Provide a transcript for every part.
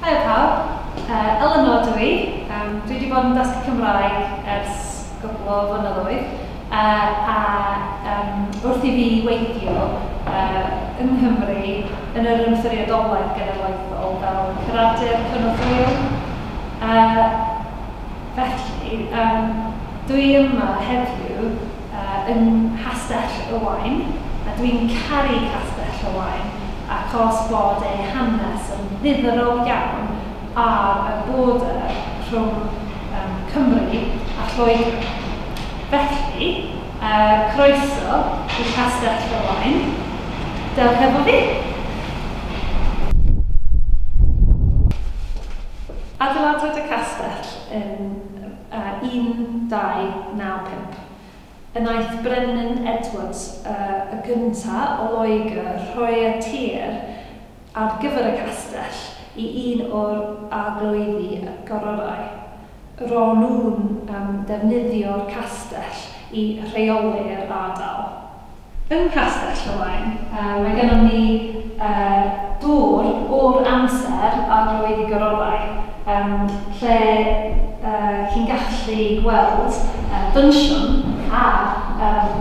Haia pawb, Eleanor dw i. Dwi wedi bod yn dysgu Cymraeg ers gwpl o flynyddoedd a wrth i fi weithio yng Nghymru yn yr Ymddiriedolaeth Genedlaethol fel curadur cynorthwyol. Felly, dwi yma heddiw yng Nghastell y Waun, a dwi'n caru Castell y Waun achos bod ei hanes yn ddiddorol iawn ar y border rhwng Cymru a Lloegr. Felly, croeso i Castell y Waun. Dewch efo fi! Adeiladwyd y castell yn 1295. Y wnaeth Brenin Edward y Gynta o Loegr rhoi y tir ar gyfer y castell i un o'r arglwyddi gororau. Ro'n nhw'n defnyddio'r castell i rheoli'r ardal. Yng Nghastell y Waun, mae gennym ni dŵr o'r amser arglwyddi gororau, lle chi'n gallu gweld dwnsiwn a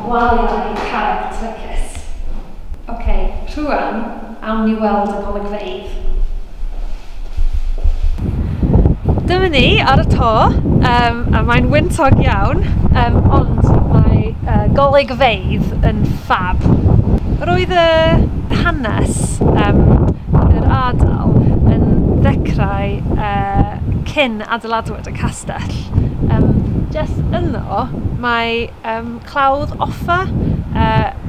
waliau carreg trwcus. Ok, rŵan awn ni weld y golygfeydd. Dyma ni ar y to, a mae'n wyntog iawn, ond mae golygfeydd yn ffab. Roedd y hanes yr ardal yn ddechrau cyn adeiladwyd y castell. Jyst yno mae Clawdd Offa.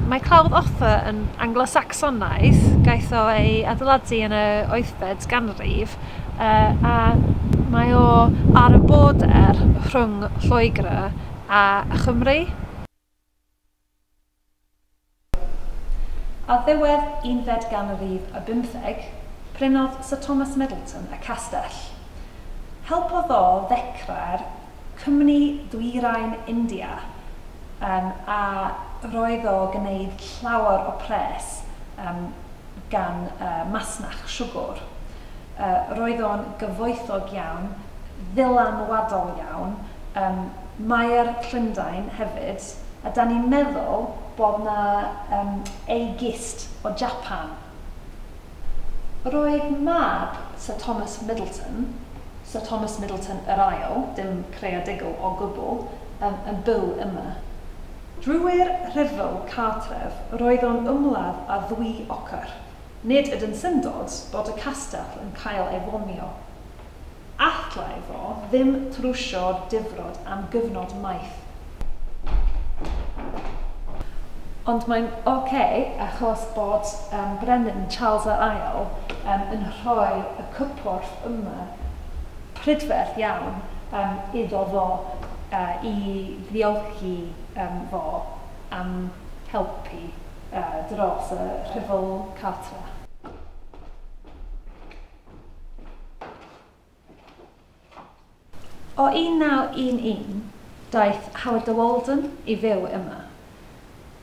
Mae Clawdd Offa yn Anglo-Sacsonaidd, gaeth o ei adeiladu yn y 8fed ganrif, a mae o ar y border rhwng Lloegr a Chymru. Ar ddiwedd unfed ganrif y bymtheg, prynodd Sir Thomas Middleton y castell. Helpodd o ddechrau'r Cwmni Dwyrain India, a roedd o gwneud llawer o pres gan masnach siwgr. Roedd o'n gyfoethog iawn, ddylanwadol iawn, Maer Llundain hefyd, a 'dan ni'n meddwl bod 'na ei gist o Japan. Roedd mab Sir Thomas Middleton, Sir Thomas Middleton yr Ail, dim creadigol o gwbl, yn byw yma. Drwy'r rhyfel cartref roedd o'n ymladd â ddwy ochr. Nid ydyn syndod bod y castell yn cael ei fomio. Allai fo ddim trwsio'r difrod am gyfnod maith. Ond mae'n ok achos bod Brenin Charles yr Ail yn rhoi y cypwrdd yma prydferth iawn iddo fo i ddiolchi fo am helpu dros y rhyfel cartre. O 1911, daeth Howard de Walden i fyw yma.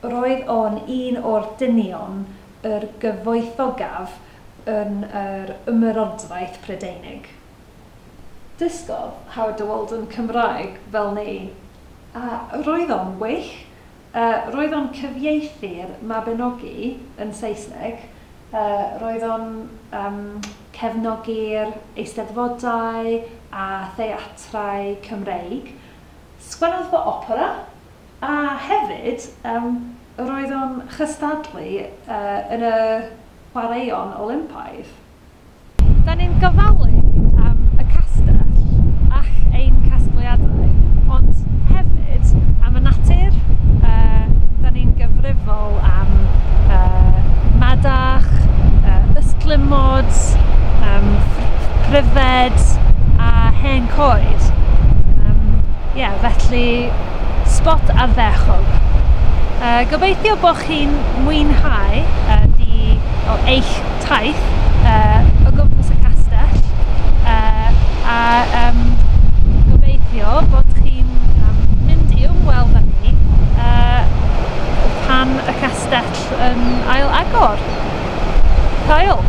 Roedd o'n un o'r dynion yr gyfoethogaf yn yr Ymerodraeth Prydeinig. Dysgodd Howard de Walden Cymraeg fel ni, a roedd o'n wych. Roedd o'n cyfieithu'r Mabinogi yn Saesneg. Roedd o'n cefnogi'r eisteddfodau a theatrau Cymreig. Sgwennodd fo opera, a hefyd roedd o'n chystadlu yn y chwaraeon Olympaidd. Da ni'n gofalu am y castell ac ein casgliadau, ond hefyd am y natur. Da ni'n gyfrifol am madarch, ystlumod, pryfed a hen coed. Ie, felly spot ardderchog. Gobeithio bod chi'n mwynhau eich taith o gwmpas y castell, a gobeithio bod chi'n mynd i ymweld â ni pan y castell yn ail agor. Hwyl!